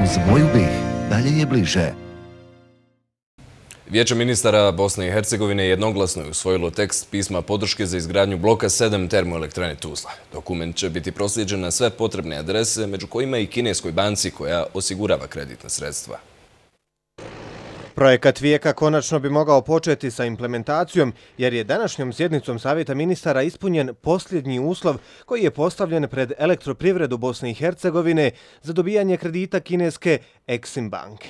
Uz moju BiH dalje je bliže. Vijeće ministara Bosne i Hercegovine jednoglasno je usvojilo tekst pisma podrške za izgradnju bloka 7 termoelektrane Tuzla. Dokument će biti proslijeđen na sve potrebne adrese, među kojima i kineskoj banci koja osigurava kreditna sredstva. Projekat Vijeka konačno bi mogao početi sa implementacijom, jer je današnjom sjednicom Savjeta ministara ispunjen posljednji uslov koji je postavljen pred Elektroprivredu Bosne i Hercegovine za dobijanje kredita kineske Exim banke.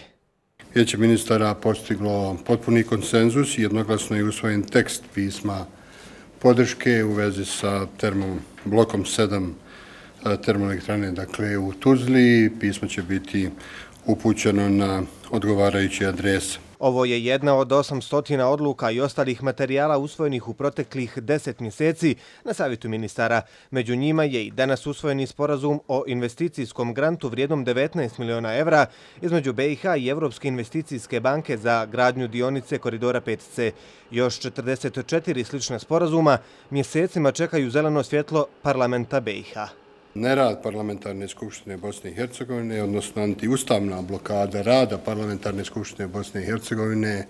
Vijeće ministara postiglo potpuni konsenzus i jednoglasno je usvojen tekst pisma podrške u vezi sa blokom 7 termoelektrane, dakle u Tuzli. Pismo će biti upućeno na odgovarajuće adrese. Ovo je jedna od 800 odluka i ostalih materijala usvojenih u proteklih 10 mjeseci na Savjetu ministara. Među njima je i danas usvojeni sporazum o investicijskom grantu vrijednom 19 miliona evra između BiH i Evropske investicijske banke za gradnju dionice koridora 5C. Još 44 slična sporazuma mjesecima čekaju zeleno svjetlo parlamenta BiH. Nerad Parlamentarne skupštine Bosne i Hercegovine, odnosno antiustavna blokada rada Parlamentarne skupštine Bosne i Hercegovine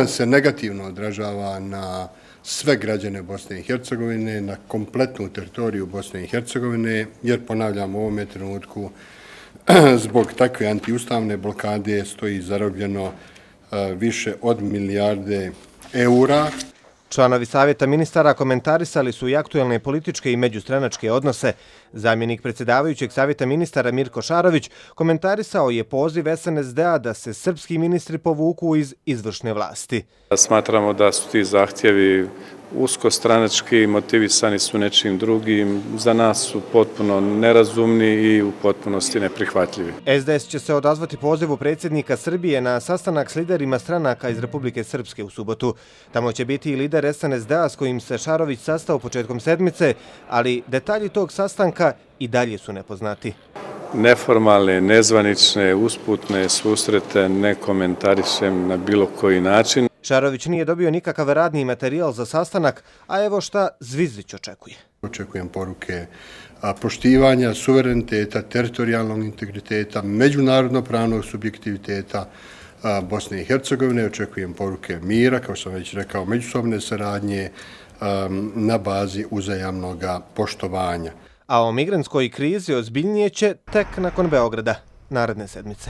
se negativno odražava na sve građane Bosne i Hercegovine, na kompletnu teritoriju Bosne i Hercegovine, jer ponavljam u ovome trenutku zbog takve antiustavne blokade stoji zarobljeno više od milijarde eura. Članovi Savjeta ministara komentarisali su i aktuelne političke i međustranačke odnose. Zamjenik predsjedavajućeg Savjeta ministara Mirko Šarović komentarisao je poziv SNSD-a da se srpski ministri povuku iz izvršne vlasti. Smatramo da su ti zahtjevi uskostranački, motivisani su nečim drugim, za nas su potpuno nerazumni i u potpunosti neprihvatljivi. SDS će se odazvati pozivu predsjednika Srbije na sastanak s liderima stranaka iz Republike Srpske u subotu. Tamo će biti i lider SNSD-a s kojim se Šarović sastao početkom sedmice, ali detalji tog sastanka i dalje su nepoznati. Neformalne, nezvanične, usputne susrete ne komentarišem na bilo koji način. Šarović nije dobio nikakav radni materijal za sastanak, a evo šta Zvizdić očekuje. Očekujem poruke poštivanja suvereniteta, teritorijalnog integriteta, međunarodno-pravnog subjektiviteta Bosne i Hercegovine. Očekujem poruke mira, kao sam već rekao, međusobne saradnje na bazi uzajamnog poštovanja. A o migrantskoj krizi ozbiljnije će tek nakon Beograda naredne sedmice.